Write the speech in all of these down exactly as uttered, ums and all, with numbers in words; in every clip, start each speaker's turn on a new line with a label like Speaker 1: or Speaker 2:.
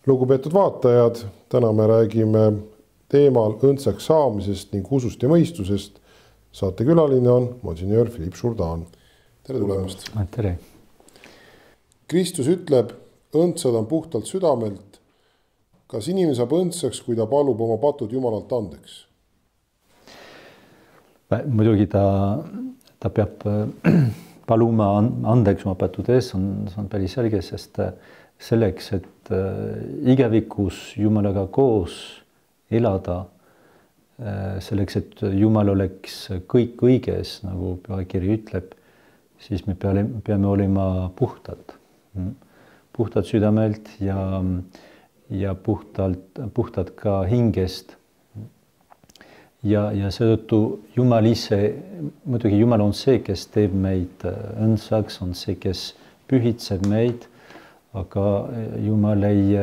Speaker 1: Lugupeetud vaatajad, täna me räägime teemal õndsaks saamisest ning usust ja mõistusest. Saate külaline on monsinjöör Philipp Jourdan. Tere tulemast.
Speaker 2: Tere.
Speaker 1: Kristus ütleb, õndsad on puhtalt südamelt. Kas inimene saab õndsaks, kui ta palub oma patud Jumalalt andeks?
Speaker 2: Muidugi ta, ta peab paluma andeks oma patud ees, on, on päris selge, sest selleks, et igavikus Jumalaga koos elada, selleks, et Jumal oleks kõik õiges, nagu pühakiri ütleb, siis me peame, peame olema puhtad. Puhtad südamelt ja, ja puhtalt, puhtad ka hingest. Ja, ja seetõttu Jumal ise, muidugi Jumal on see, kes teeb meid õndsaks, on see, kes pühitseb meid, aga Jumal ei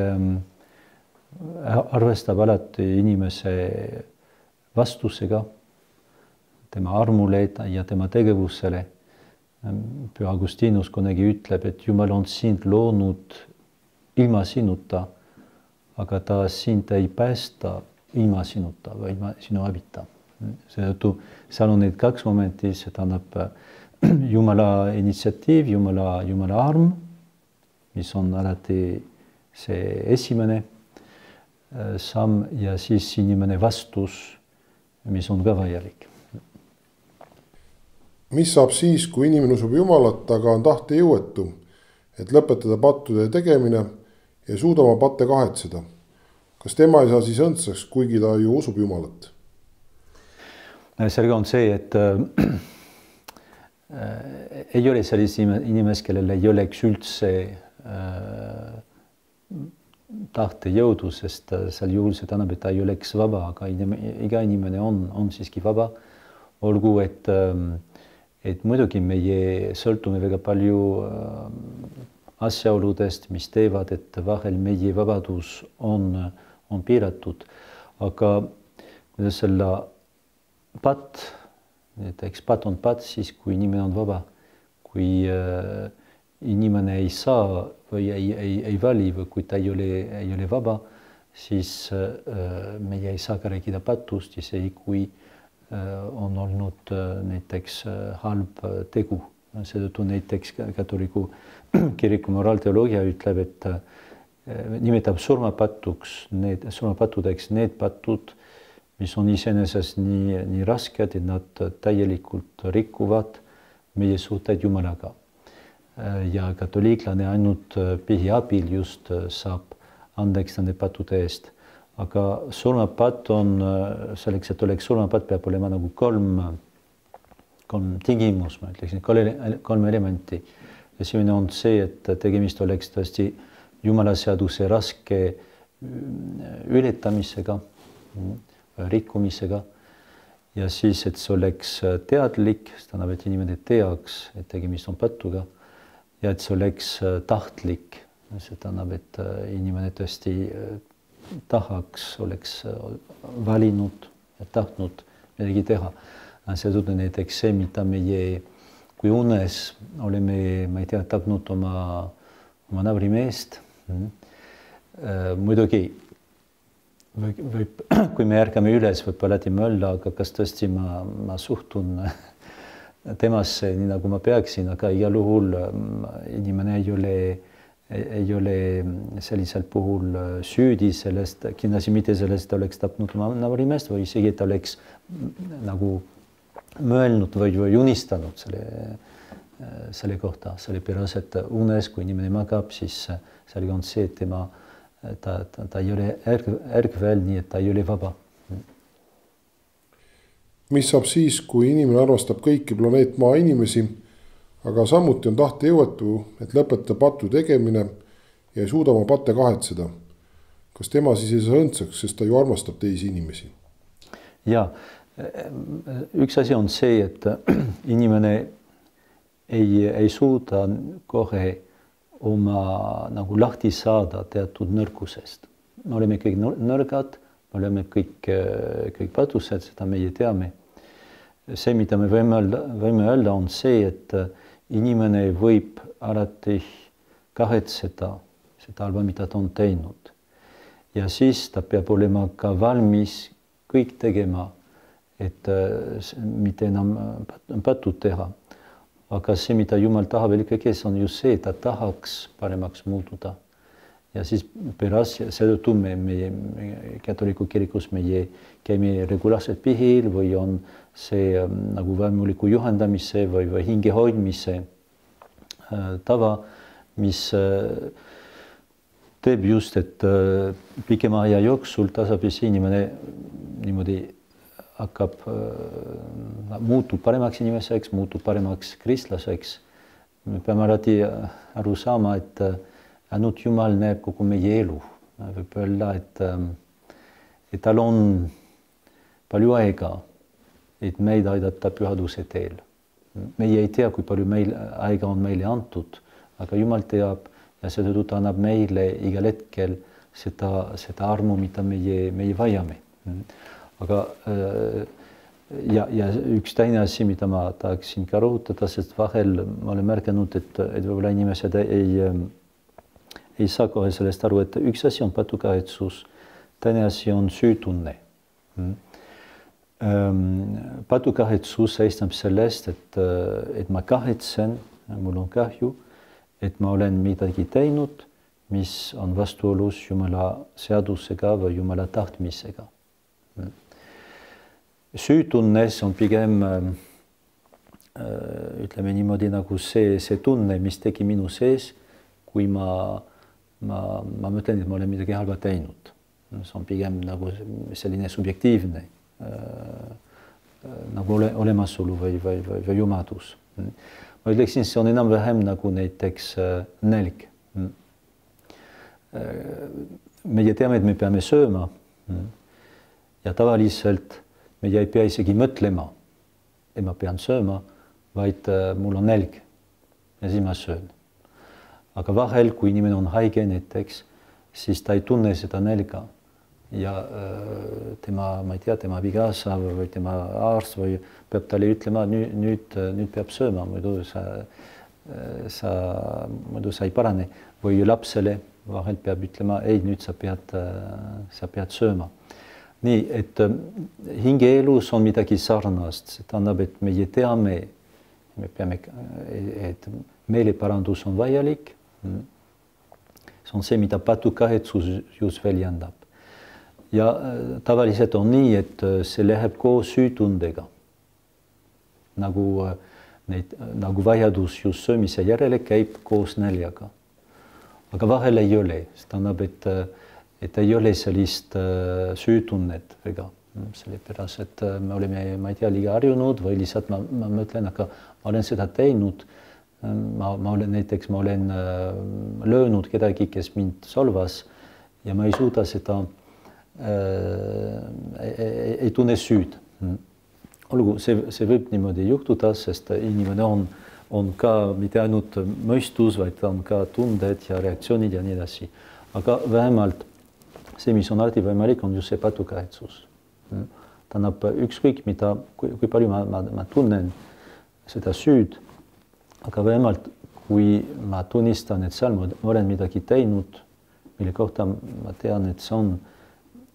Speaker 2: arvestab alati inimese vastusega, tema armule ja tema tegevusele. Püha Augustinus kunagi ütleb, et Jumal on sind loonud ilma sinuta, aga ta sind ei päästa ilma sinuta või ilma sinu abita. Seetõttu seal on need kaks momenti, see tähendab Jumala initsiatiiv, Jumala, Jumala arm, mis on alati see esimene samm ja siis inimene vastus, mis on ka vajalik.
Speaker 1: Mis saab siis, kui inimene usub Jumalat, aga on tahte jõuetu, et lõpetada pattude tegemine ja suuda oma patte kahetseda? Kas tema ei saa siis õndsaks, kuigi ta ju usub Jumalat?
Speaker 2: Selge on see, et äh, ei ole sellise inimest, kellel ei oleks üldse äh, tahte jõudu, sest seal juhul see tähendab, et ta ei oleks vaba, aga inimene, iga inimene on, on siiski vaba. Olgu, et, et muidugi meie sõltume väga palju asjaoludest, mis teevad, et vahel meie vabadus on, on piiratud. Aga kuidas selle pat, näiteks pat on pat siis, kui inimene on vaba, kui äh, inimene ei saa või ei, ei, ei vali või kui ta ei ole, ei ole vaba, siis äh, meie ei saa ka rääkida patust, isegi kui äh, on olnud äh, näiteks äh, halb tegu. Seetõttu näiteks katoliku kiriku moraalteoloogia ütleb, et äh, nimetab surmapatuks, need, surmapatudeks need patud, mis on iseenesest nii, nii rasked, et nad täielikult rikuvad meie suhteid Jumalaga. Ja katoliiklane ainult pihi abil just saab andeks nende pattude eest. Aga surmapatt on, selleks, et oleks surmapatt, peab olema nagu kolm, kolm tingimus, ma ütleksin, kolm elementi. Esimene on see, et tegemist oleks tõesti Jumala seaduse raske ületamisega, rikkumisega. Ja siis, et see oleks teadlik, see tähendab, et inimene teaks, et tegemist on pattuga. Ja et see oleks tahtlik, see tähendab, et inimene tõesti tahaks, oleks valinud ja tahtnud midagi teha. Seetõttu näiteks see, mida meie, kui unes oleme, ma ei tea, tapnud oma, oma nabrimeest. Muidugi, või, või, kui me ärkame üles, võib alati mõelda, aga kas tõesti ma, ma suhtun temasse, nii nagu ma peaksin, aga igal juhul inimene ei ole, ei ole sellisel puhul süüdi sellest, kindlasti mitte sellest, et oleks tapnud oma nabrimeest või isegi, et oleks nagu mõelnud või, või unistanud selle, selle kohta, sellepärast, et unes, kui inimene magab, siis selge on see, et tema, ta, ta, ta ei ole ärkvel, nii et ta ei ole vaba.
Speaker 1: Mis saab siis, kui inimene armastab kõiki planeet maa inimesi, aga samuti on tahte jõuetu, et lõpetada pattu tegemine ja ei suuda oma patte kahetseda? Kas tema siis ei saa õndsaks, sest ta ju armastab teisi inimesi?
Speaker 2: Ja, üks asi on see, et inimene ei, ei suuda kohe oma nagu lahti saada teatud nõrkusest. Me oleme kõik nõrgad, me oleme kõik, kõik patused, seda meie teame. See, mida me võime öelda, võime öelda, on see, et inimene võib alati kahetseda seda halba, mida ta on teinud. ja siis ta peab olema ka valmis kõik tegema, et mitte enam patud teha. Aga see, mida Jumal tahab ikkagi, on just see, et ta tahaks paremaks muutuda. Ja siis pärast seetõttu me, meie katoliku kirikus meie käime regulaarselt pihil või on see nagu vaimuliku juhendamise või, või hinge hoidmise tava, mis teeb just, et pikema aja jooksul tasapisi inimene niimoodi hakkab, muutub paremaks inimeseks, muutub paremaks kristlaseks. Me peame alati aru saama, et ainult Jumal näeb kogu meie elu. Võib öelda, et, et tal on palju aega, et meid aidata pühaduse teel. Meie ei tea, kui palju meil aega on meile antud, aga Jumal teab ja seetõttu ta annab meile igal hetkel seda, seda armu, mida meie, meie vajame. Aga ja, ja üks teine asi, mida ma tahaksin ka rõhutada, sest vahel ma olen märganud, et, et võib-olla inimesed ei, ei saa kohe sellest aru, et üks asi on patukahetsus, teine asi on süütunne. Patukahetsus seisneb sellest, et, et ma kahetsen, mul on kahju, et ma olen midagi teinud, mis on vastuolus Jumala seadusega või Jumala tahtmisega. Süütunnes on pigem, ütleme niimoodi, nagu see, see tunne, mis tegi minu sees, kui ma, ma, ma mõtlen, et ma olen midagi halba teinud. See on pigem nagu selline subjektiivne nagu ole, olemasolu või, või, või, või jumadus. Ma ütleksin, see on enam-vähem nagu näiteks nälg. Meie teame, et me peame sööma ja tavaliselt meie ei pea isegi mõtlema, et ma pean sööma, vaid mul on nälg ja siis ma söön. Aga vahel, kui inimene on haige näiteks, siis ta ei tunne seda nälga ja tema, ma ei tea, tema abikaasa või tema arst või peab talle ütlema, nüüd, nüüd, nüüd peab sööma, muidu sa, sa, muidu sa ei parane. Või lapsele vahel peab ütlema, ei, nüüd sa pead, sa pead sööma. Nii, et hingeelus on midagi sarnast, see tähendab, et meie teame, me peame, et meeleparandus on vajalik. See on see, mida patukahetsus just väljendab. Ja tavaliselt on nii, et see läheb koos süütundega. Nagu, neid, nagu vajadus just söömise järele käib koos näljaga. Aga vahel ei ole, see tähendab, et et ei ole sellist süütunnet väga, sellepärast, et me oleme, ma ei tea, liiga harjunud või lihtsalt ma, ma mõtlen, aga ma olen seda teinud. Ma, ma olen näiteks, ma olen löönud kedagi, kes mind solvas ja ma ei suuda seda, ei, ei tunne süüd. Olgu, see, see võib niimoodi juhtuda, sest inimene on, on ka mitte ainult mõistus, vaid on ka tunded ja reaktsioonid ja nii edasi. Aga vähemalt see, mis on alati võimalik, on just see patukahetsus. Tähendab, ükskõik mida, kui, kui palju ma, ma, ma tunnen seda süüd, aga vähemalt kui ma tunnistan, et seal ma olen midagi teinud, mille kohta ma tean, et see on,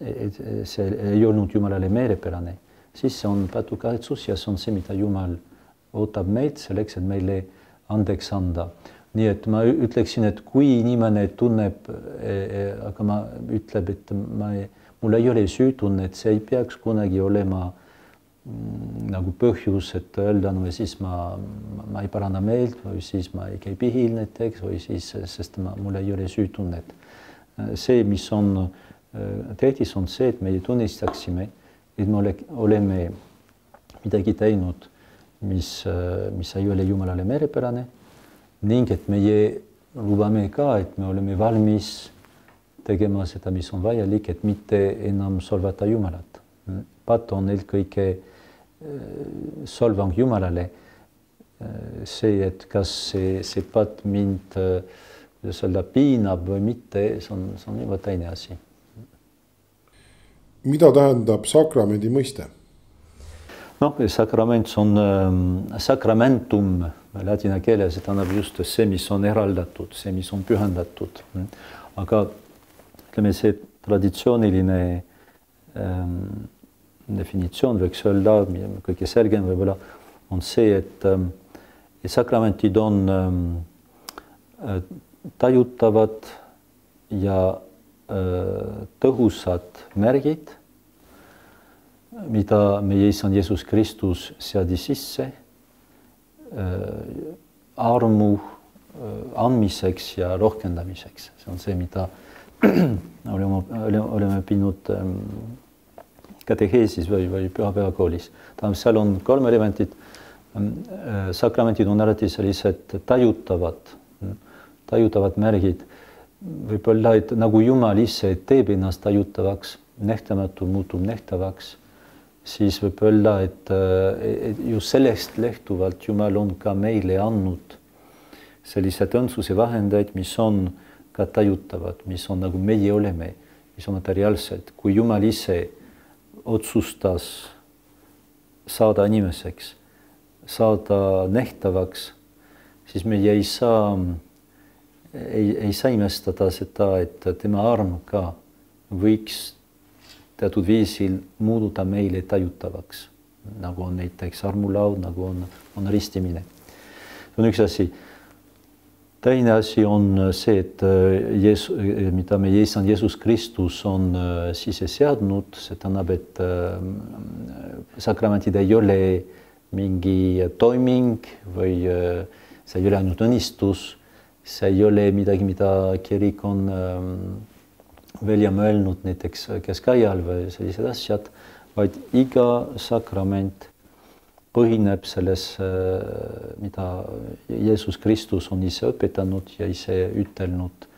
Speaker 2: et see ei olnud Jumalale meelepärane, siis see on patukahetsus ja see on see, mida Jumal ootab meid selleks, et meile andeks anda. Nii et ma ütleksin, et kui inimene tunneb, aga ma ütleb, et ma ei, mul ei ole süütunne, et see ei peaks kunagi olema nagu põhjus, et öelda, no siis ma, ma ei paranda meelt või siis ma ei käi pihil näiteks või siis, sest ma, mul ei ole süütunnet. See, mis on tähtis, on see, et meie tunnistaksime, et me ole, oleme midagi teinud, mis, mis ei ole Jumalale meelepärane, ning et meie lubame ka, et me oleme valmis tegema seda, mis on vajalik, et mitte enam solvata Jumalat. Pat on eelkõige solvang Jumalale. See, et kas see, see pat mind seda piinab või mitte, see on, see on juba teine asi.
Speaker 1: Mida tähendab sakramendi mõiste?
Speaker 2: Noh, sakrament on ähm, sakramentum ladina keeles, see tähendab just see, mis on eraldatud, see, mis on pühendatud. Aga ütleme, see traditsiooniline ähm, definitsioon võiks öelda, kõige selgem võib-olla on see, et, et sakramendid on ähm, tajutavad ja äh, tõhusad märgid, mida meie Issand Jeesus Kristus seadis sisse äh, armu andmiseks ja rohkendamiseks. See on see, mida oleme, oleme õppinud kateheesis või, või pühapäevakoolis. Seal on kolm elementit. Sakramendid on alati sellised tajutavad, tajutavad märgid. Võib-olla, et nagu Jumal ise teeb ennast tajutavaks, nähtamatu muutub nähtavaks, siis võib-olla, et, et just sellest lehtuvalt Jumal on ka meile andnud sellised õndsuse vahendeid, mis on ka tajutavad, mis on nagu meie oleme, mis on materiaalsed. Kui Jumal ise otsustas saada inimeseks, saada nähtavaks, siis meie ei saa, ei, ei saa imestada seda, et tema arm ka võiks teatud viisil muududa meile tajutavaks, nagu on näiteks armulaud, nagu on, on ristimine. See on üks asi. Teine asi on see, et Jeesus, mida meie Issand Jeesus Kristus on sisse seadnud, see tähendab, et sakramendid ei ole mingi toiming või see ei ole ainult õnnistus, see ei ole midagi, mida kirik on välja mõelnud näiteks keskajal või sellised asjad, vaid iga sakrament põhineb selles, mida Jeesus Kristus on ise õpetanud ja ise ütelnud,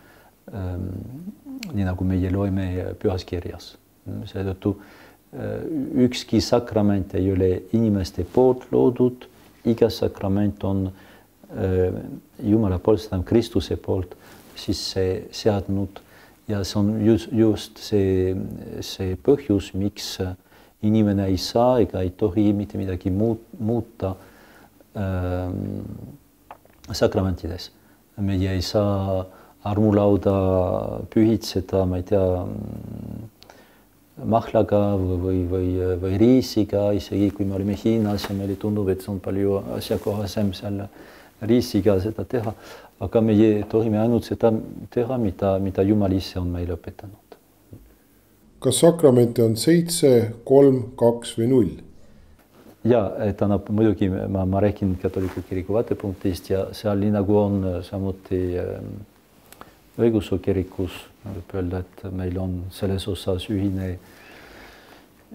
Speaker 2: nii nagu meie loeme pühas kirjas. Seetõttu ükski sakrament ei ole inimeste poolt loodud, iga sakrament on Jumala poolt, seda on Kristuse poolt sisse seadnud ja see on just, just see, see põhjus, miks inimene ei saa ega ei tohi mitte midagi muuta ähm, sakramentides. Meie ei saa armulauda pühitseda, ma ei tea, mahlaga või, või, või riisiga, isegi kui me olime Hiinas ja meile tundub, et see on palju asjakohasem seal riisiga seda teha, aga meie tohime ainult seda teha, mida, mida Jumal ise on meile õpetanud.
Speaker 1: Kas sakramente on seitse, kolm, kaks või null?
Speaker 2: Ja, tähendab, muidugi ma, ma räägin katoliku kiriku vaatepunktist ja seal nii nagu on samuti õigeusu kirikus, võib öelda, et meil on selles osas ühine,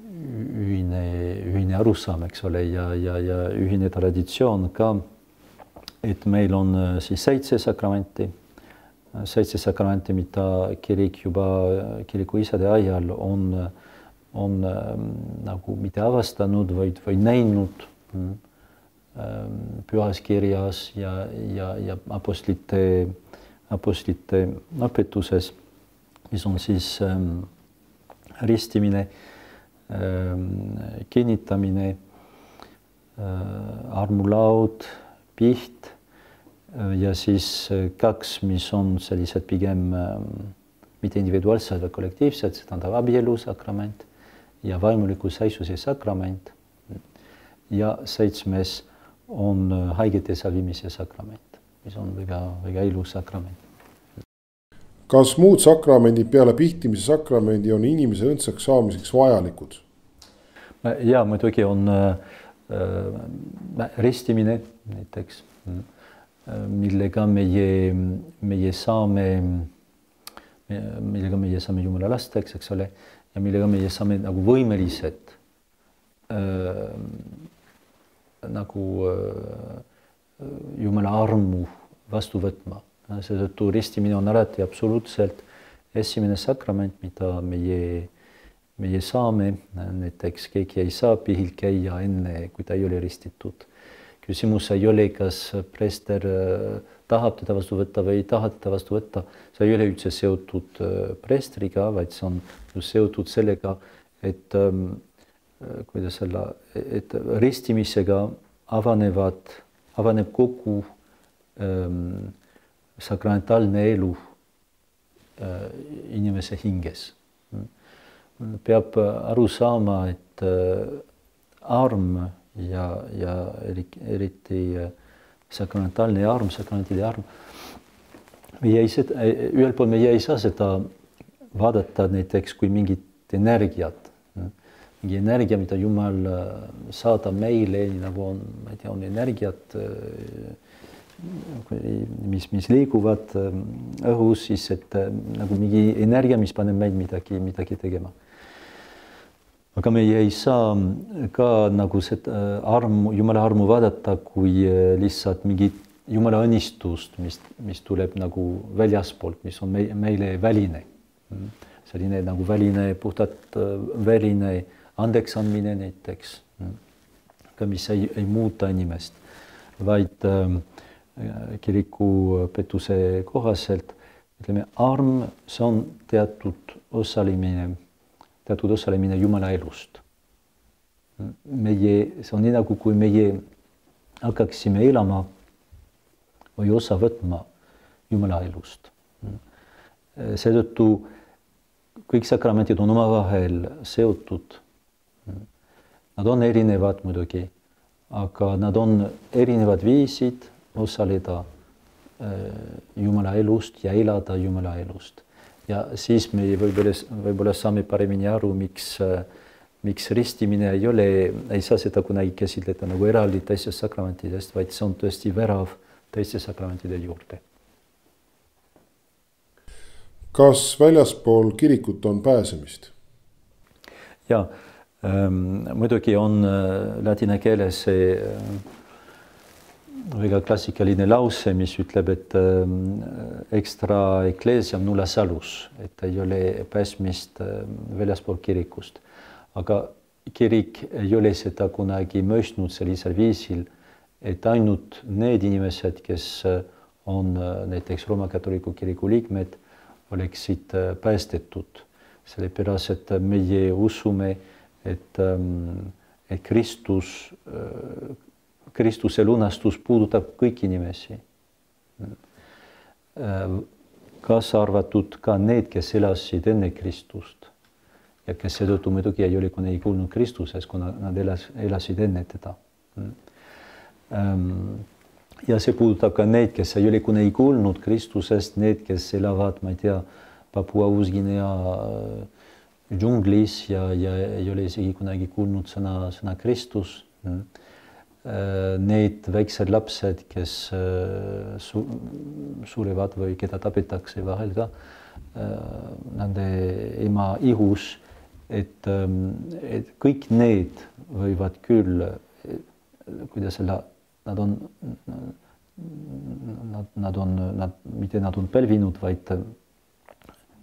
Speaker 2: ühine, ühine arusaam, eks ole, ja, ja, ja ühine traditsioon ka, et meil on siis seitse sakramenti, seitse sakramenti, mida kirik juba kiriku isade ajal on, on nagu mitte avastanud, vaid, vaid näinud pühas kirjas ja, ja, ja apostlite, apostlite õpetuses, mis on siis ähm, ristimine, ähm, kinnitamine, äh, armulaud, piht ja siis kaks, mis on sellised pigem mitte individuaalsed, vaid kollektiivsed, see tähendab abielu sakrament ja vaimuliku seisuse sakrament. Ja seitsmes on haigete salvimise sakrament, mis on väga, väga ilus sakrament.
Speaker 1: Kas muud sakramendid peale pihtimise sakramendi on inimese õndsaks saamiseks vajalikud?
Speaker 2: Ja muidugi on äh, ristimine näiteks, millega meie, meie saame, millega meie saame Jumala lasteks, eks ole, ja millega meie saame nagu võimelised äh, nagu äh, Jumala armu vastu võtma. Seetõttu ristimine on alati absoluutselt esimene sakrament, mida meie, meie saame. Näiteks keegi ei saa pihil käia enne, kui ta ei ole ristitud. Küsimus ei ole, kas preester tahab teda vastu võtta või ei taha teda vastu võtta. See ei ole üldse seotud preestriga, vaid see on seotud sellega, et, kuidas selle, et ristimisega avanevad, avaneb kogu ähm, sakramentaalne elu äh, inimese hinges. peab aru saama, et arm ja, ja eriti sakramentaalne arm, sakramentide arm, meie ei seda, ühel pool meie ei saa seda vaadata näiteks kui mingit energiat, mingi energia, mida Jumal saadab meile, nagu on, ma ei tea, on energiat, mis, mis liiguvad õhus, siis et nagu mingi energia, mis paneb meid midagi, midagi tegema. Aga meie ei saa ka nagu seda armu, Jumala armu vaadata kui lihtsalt mingit Jumala õnnistust, mis, mis tuleb nagu väljaspoolt, mis on meile väline. Selline nagu väline, puhtalt väline andeks andmine näiteks, mis ei, ei muuta inimest, vaid kiriku petuse kohaselt, ütleme, arm, see on teatud osalemine, teatud osalemine Jumala elust. Meie, see on nii nagu, kui meie hakkaksime elama või osa võtma Jumala elust. Seetõttu kõik sakramentid on omavahel seotud. Nad on erinevad muidugi, aga nad on erinevad viisid osaleda Jumala elust ja elada Jumala elust. Ja siis me võib-olla, võib-olla saame paremini aru, miks, miks ristimine ei ole, ei saa seda kunagi käsitleda nagu eraldi teistest sakramentidest, vaid see on tõesti värav teiste sakramentide juurde.
Speaker 1: Kas väljaspool kirikut on pääsemist?
Speaker 2: Ja, ähm, muidugi on äh, ladina keeles see äh, väga klassikaline lause, mis ütleb, et äh, extra ecclesiam nulla salus, et ei ole pääsmist äh, väljaspool kirikust. Aga kirik ei ole seda kunagi mõistnud sellisel viisil, et ainult need inimesed, kes on äh, näiteks Rooma katoliku kiriku liikmed, oleksid äh, päästetud. Sellepärast, et meie usume, et, ähm, et Kristus äh, Kristuse lunastus puudutab kõiki inimesi. Kaasa arvatud ka need, kes elasid enne Kristust ja kes seetõttu muidugi ei ole kunagi kuulnud Kristuses, kuna nad elas, elasid enne teda. Ja see puudutab ka need, kes ei ole kunagi kuulnud Kristusest, need, kes elavad, ma ei tea, Papua Uus-Guinea džunglis ja, ja ei ole isegi kunagi kuulnud sõna, sõna Kristus. Need väiksed lapsed, kes su surevad või keda tapetakse vahel ka nende ema ihus, et, et kõik need võivad küll, kuidas selle, nad on, nad, nad on, nad, mitte nad on pälvinud, vaid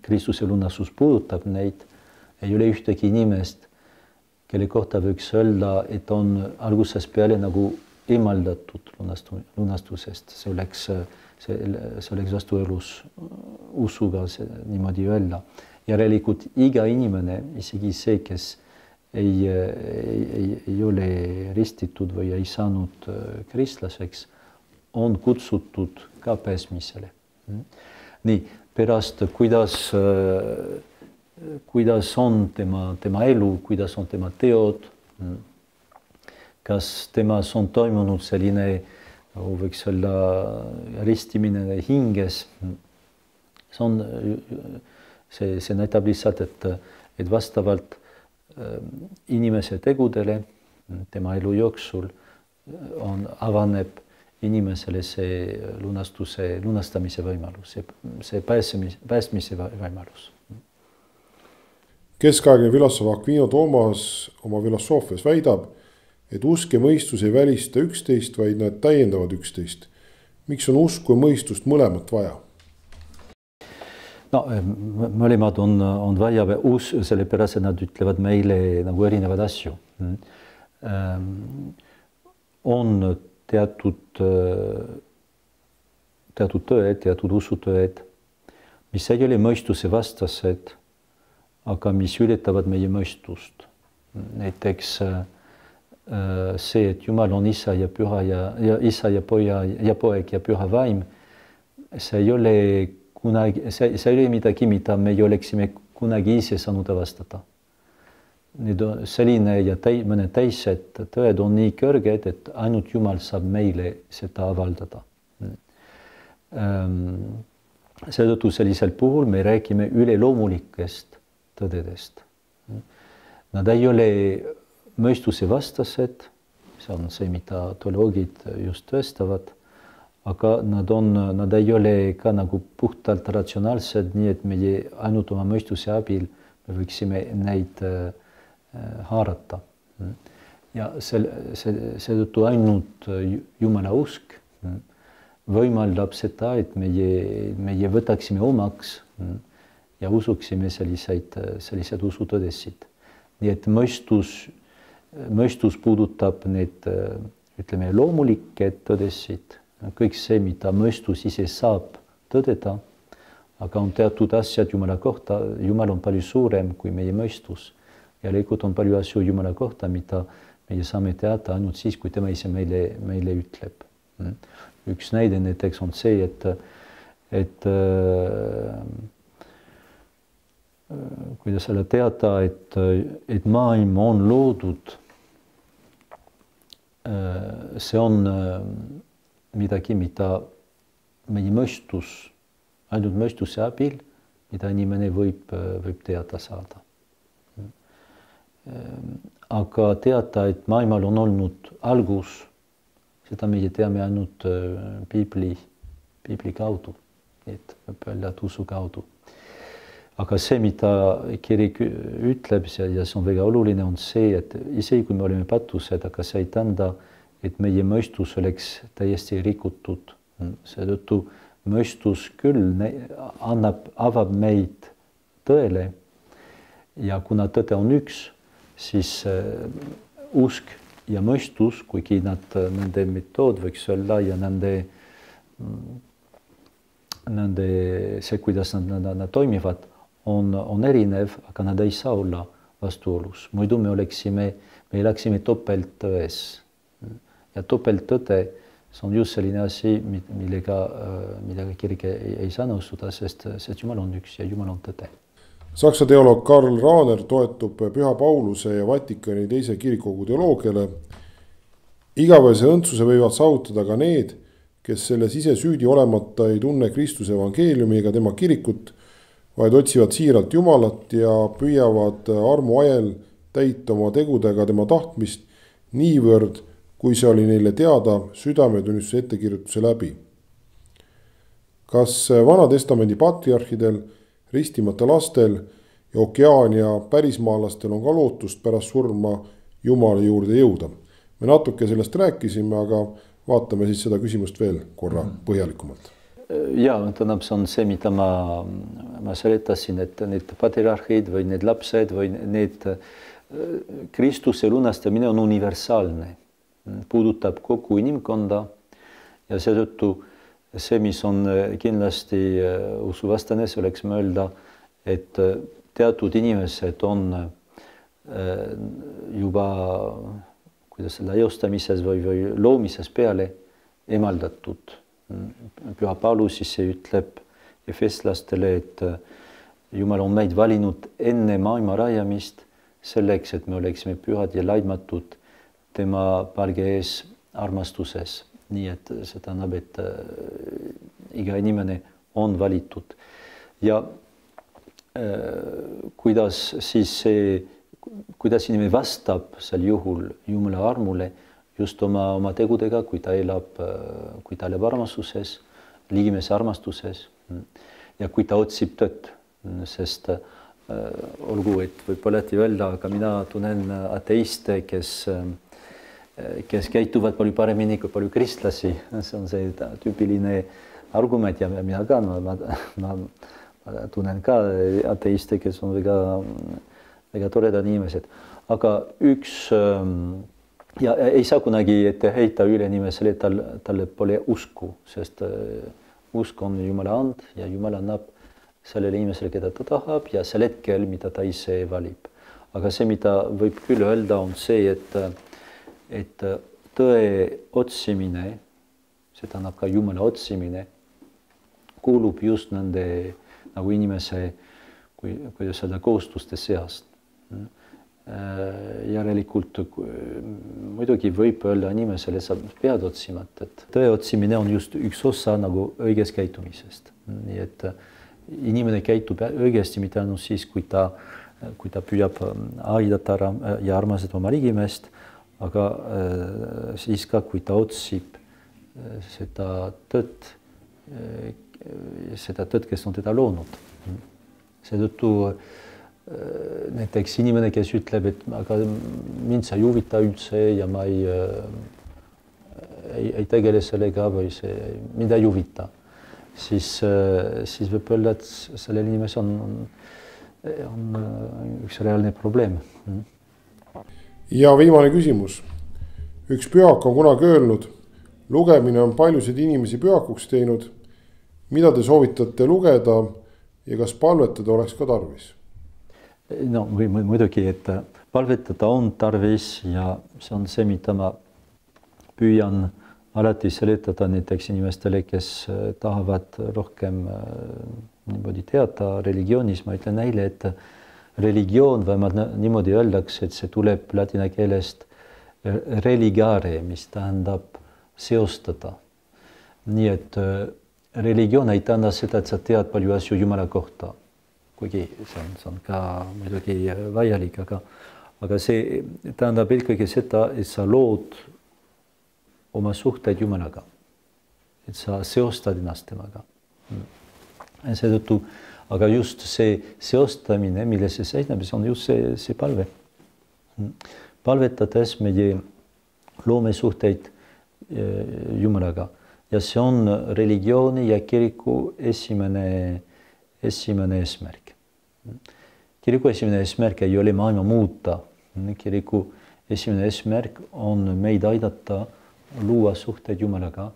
Speaker 2: Kristuse lunastus puudutab neid, ei ole ühtegi inimest, kelle kohta võiks öelda, et on algusest peale nagu eemaldatud lunastusest. See oleks, see, see oleks vastuelus usuga niimoodi öelda. Järelikult iga inimene, isegi see, kes ei, ei, ei ole ristitud või ei saanud kristlaseks, on kutsutud ka pääsmisele. Nii, pärast kuidas kuidas on tema, tema elu, kuidas on tema teod, kas temas on toimunud selline, võiks olla ristimine hinges. See, on, see, see näitab lihtsalt, et, et vastavalt inimese tegudele tema elu jooksul on, avaneb inimesele see lunastuse, lunastamise võimalus, see, see pääsemise, päästmise võimalus.
Speaker 1: Keskaegne filosoof Aquino Toomas oma filosoofias väidab, et usk ja mõistus ei välista üksteist, vaid nad täiendavad üksteist. Miks on usku ja mõistust mõlemat vaja?
Speaker 2: No, mõlemad on, on vaja us, sellepärast, et nad ütlevad meile nagu erinevad asju. On teatud, teatud tööd, teatud usutööd, mis ei ole mõistuse vastased, aga mis ületavad meie mõistust. Näiteks see, et Jumal on isa ja püha ja, ja isa ja poja ja poeg ja püha vaim, see ei ole kunagi, see, see ei ole midagi, mida me oleksime kunagi ise saanud avastada. need on selline ja täi, mõned teised tõed on nii kõrged, et ainult Jumal saab meile seda avaldada. Seetõttu sellisel puhul me räägime üleloomulikest tõdedest. Nad ei ole mõistuse vastased, see on see, mida teoloogid just tõestavad, aga nad, on, nad ei ole ka nagu puhtalt ratsionaalsed, nii et meie ainult oma mõistuse abil me võiksime neid äh, haarata. Ja seetõttu ainult Jumala usk võimaldab seda, et meie, meie võtaksime omaks ja usuksime selliseid, selliseid usutõdesid. Nii et mõistus, mõistus puudutab need, ütleme, loomulikke tõdesid, kõik see, mida mõistus ise saab tõdeda, aga on teatud asjad Jumala kohta, Jumal on palju suurem kui meie mõistus. Ja leikult on palju asju Jumala kohta, mida meie saame teada ainult siis, kui tema ise meile, meile ütleb. Üks näide näiteks on see, et, et äh, kuidas selle teada, et, et maailm on loodud, äh, see on äh, midagi, mida meie mõistus, ainult mõistuse abil, mida inimene võib, võib teada saada. Aga teada, et maailmal on olnud algus, seda meie teame ainult Piibli, Piibli kaudu, et võib öelda usu kaudu. Aga see, mida kirik ütleb ja see on väga oluline, on see, et isegi kui me oleme patused, aga see ei tähenda, et meie mõistus oleks täiesti rikutud. Seetõttu mõistus küll annab, avab meid tõele ja kuna tõde on üks, siis usk ja mõistus, kuigi nad, nende metood võiks olla ja nende, nende see, kuidas nad, nad, nad toimivad, on, on erinev, aga nad ei saa olla vastuolus. Muidu me oleksime, me elaksime topelttões. Ja topelttõde, see on just selline asi, millega, millega kirik ei, ei saa nõustuda, sest, sest Jumal on üks ja Jumal on tõde.
Speaker 1: Saksa teoloog Karl Rahner toetub Püha Pauluse ja Vatikani teise kirikukogu teoloogiale. Igavese õndsuse võivad saavutada ka need, kes selles ise süüdi olemata ei tunne Kristuse evangeeliumi ega tema kirikut, vaid otsivad siiralt Jumalat ja püüavad armu ajel täita oma tegudega tema tahtmist niivõrd, kui see oli neile teada südametunnistuse ettekirjutuse läbi. Kas Vana Testamendi patriarhidel, ristimata lastel ja Okeaania pärismaalastel on ka lootust pärast surma Jumala juurde jõuda? Me natuke sellest rääkisime, aga vaatame siis seda küsimust veel korra põhjalikumalt.
Speaker 2: Ja, tähendab, see on see, mida ma, ma seletasin, et need patriarhid või need lapsed või need Kristuse lunastamine on universaalne, puudutab kogu inimkonda ja seetõttu see, mis on kindlasti usuvastane, see oleks mõelda, et teatud inimesed on juba kuidas selle eostamises või, või loomises peale emaldatud. Püha Paulus siis ütleb efeslastele, et Jumal on meid valinud enne maailma rajamist selleks, et me oleksime pühad ja laitmatud tema palge ees armastuses. Nii et see tähendab, et äh, iga inimene on valitud. Ja äh, kuidas siis see, kuidas inimene vastab sel juhul Jumala armule just oma, oma tegudega, kui ta elab, äh, kui ta elab armastuses, ligimese armastuses ja kui ta otsib tõtt, sest äh, olgu, et võib alati öelda, aga mina tunnen ateiste, kes äh, kes käituvad palju paremini kui palju kristlasi. See on see tüüpiline argument ja mina ka, ma, ma, ma, ma tunnen ka ateiste, kes on väga, väga toredad inimesed. Aga üks, ja ei saa kunagi ette heita üle inimesele, tal, talle pole usku, sest usk on Jumala and ja Jumal annab sellele inimesele, keda ta tahab ja sel hetkel, mida ta ise valib. Aga see, mida võib küll öelda, on see, et et tõe otsimine, see tähendab ka Jumala otsimine, kuulub just nende nagu inimese, kui, kuidas öelda, kohustuste seast. järelikult muidugi võib öelda inimesele, sa pead otsima, et tõe otsimine on just üks osa nagu õigest käitumisest. Nii et inimene käitub õigesti mitte ainult siis, kui ta, kui ta püüab aidata ja armastada oma ligimeest, aga siis ka, kui ta otsib seda tõtt, seda tõtt, kes on teda loonud. Seetõttu näiteks inimene, kes ütleb, et aga mind see ei huvita üldse ja ma ei, ei, ei tegele sellega või see mind ei huvita, siis, siis võib öelda, et sellel inimesel on, on, on üks reaalne probleem.
Speaker 1: Ja viimane küsimus. Üks pühak on kunagi öelnud, lugemine on paljusid inimesi pühakuks teinud. Mida te soovitate lugeda ja kas palvetada oleks ka tarvis?
Speaker 2: No muidugi, et palvetada on tarvis ja see on see, mida ma püüan alati seletada näiteks inimestele, kes tahavad rohkem niimoodi teada religioonis. Ma ütlen neile, et religioon, vähemalt niimoodi öeldakse, et see tuleb ladina keelest religare, mis tähendab seostada. Nii et religioon ei tähenda seda, et sa tead palju asju Jumala kohta. Kuigi see on, see on ka muidugi vajalik, aga, aga see tähendab eelkõige seda, et sa lood oma suhteid Jumalaga. Et sa seostad ennast temaga. Seetõttu, aga just see seostamine, mille see seisneb, see on just see, see palve. Palvetades meie loome suhteid Jumalaga. Ja see on religiooni ja kiriku esimene, esimene eesmärk. Kiriku esimene eesmärk ei ole maailma muuta. Kiriku esimene eesmärk on meid aidata luua suhteid Jumalaga.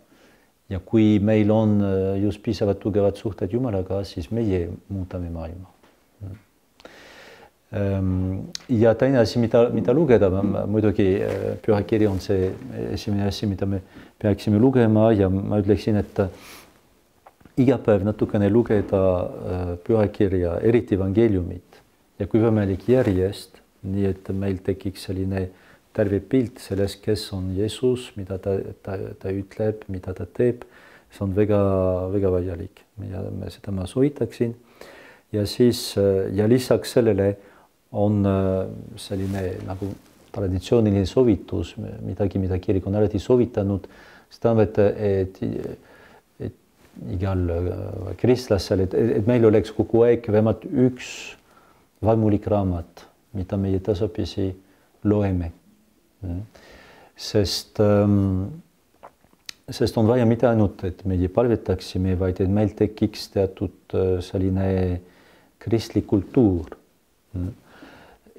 Speaker 2: Ja kui meil on just piisavalt tugevad suhteid Jumalaga, siis meie muutame maailma. Ja teine asi, mida, mida lugeda, muidugi pühakiri on see esimene asi, mida me peaksime lugema ja ma ütleksin, et iga päev natukene lugeda pühakirja, eriti evangeeliumit ja kui võimalik järjest, nii et meil tekiks selline terve pilt sellest, kes on Jeesus, mida ta, ta, ta ütleb, mida ta teeb, see on väga, väga vajalik ja seda ma soovitaksin. Ja siis ja lisaks sellele on selline nagu traditsiooniline soovitus, midagi, mida kirik on alati soovitanud, see tähendab, et, et, et igal kristlasel, et, et meil oleks kogu aeg vähemalt üks vaimulik raamat, mida meie tasapisi loeme. Sest, sest on vaja mitte ainult, et meie palvetaksime, vaid et meil tekiks teatud selline kristlik kultuur.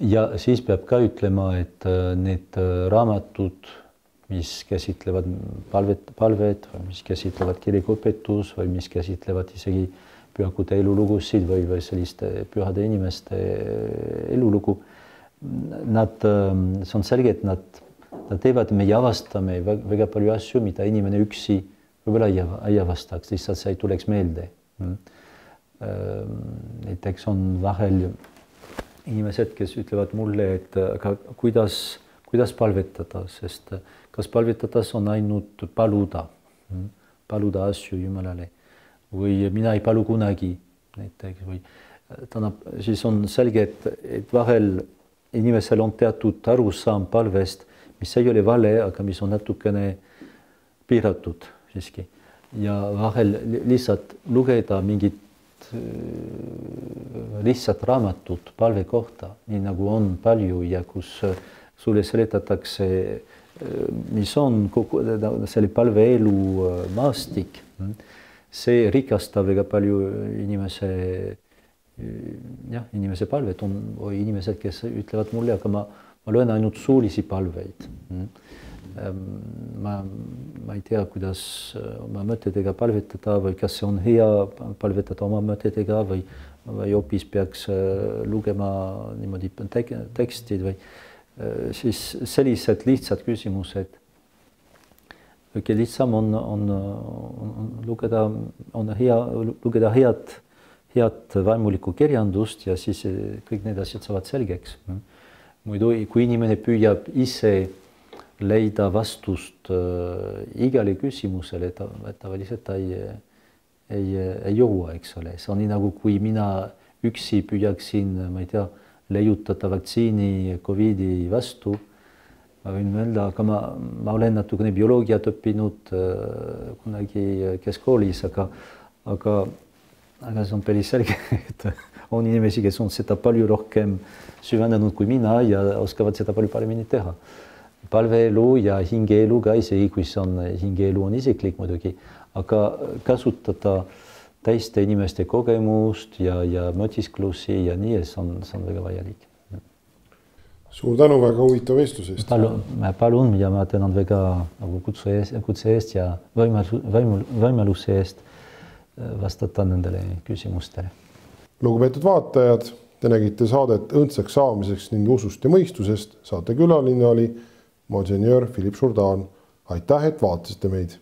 Speaker 2: Ja siis peab ka ütlema, et need raamatud, mis käsitlevad palvet, palvet või mis käsitlevad kirikuõpetus või mis käsitlevad isegi pühakute elulugusid või, või selliste pühade inimeste elulugu, nad, see on selge, et nad, nad teevad, me avastame väga palju asju, mida inimene üksi võib-olla ei avastaks, lihtsalt see ei tuleks meelde. Näiteks on vahel inimesed, kes ütlevad mulle, et aga kuidas, kuidas palvetada, sest kas palvetades on ainult paluda, paluda asju Jumalale või mina ei palu kunagi näiteks või tähendab, siis on selge, et, et vahel inimesel on teatud arusaam palvest, mis ei ole vale, aga mis on natukene piiratud siiski. Ja vahel lihtsalt lugeda mingit lihtsalt raamatut palve kohta, nii nagu on palju ja kus sulle seletatakse, mis on kogu selle palveelu maastik. See rikastab väga palju inimese, jah, inimese palvet on või inimesed, kes ütlevad mulle, aga ma, ma loen ainult suulisi palveid. Ma, ma ei tea, kuidas oma mõtetega palvetada või kas see on hea palvetada oma mõtetega või, või hoopis peaks lugema niimoodi tekstid või siis sellised lihtsad küsimused. Kõige lihtsam on, on, on lugeda, on hea, lugeda head, head vaimulikku kirjandust ja siis kõik need asjad saavad selgeks. muidu kui inimene püüab ise leida vastust äh, igale küsimusele, ta tavaliselt ta ei, ei, ei jõua, eks ole. See on nii nagu kui mina üksi püüaksin, ma ei tea, leiutada vaktsiini Covidi vastu. Ma võin öelda, aga ma, ma olen natukene bioloogiat õppinud äh, kunagi keskkoolis, aga, aga, aga see on päris selge, et on inimesi, kes on seda palju rohkem süvenenud kui mina ja oskavad seda palju paremini teha. Palveelu ja hingeelu ka isegi, kui see on, hingeelu on isiklik muidugi, aga kasutada teiste inimeste kogemust ja, ja mõtisklusi ja nii, see on, see on väga vajalik.
Speaker 1: Suur tänu väga huvitav vestluse eest.
Speaker 2: Palun, palun ja ma tänan väga nagu kutse eest, kutse eest ja võimaluse eest vastata nendele küsimustele.
Speaker 1: Lugupeetud vaatajad, te nägite saadet õndsaks saamiseks ning usust ja mõistusest. Saate külaline oli Monsenjör Philippe Jourdan. Aitäh, et vaatasite meid!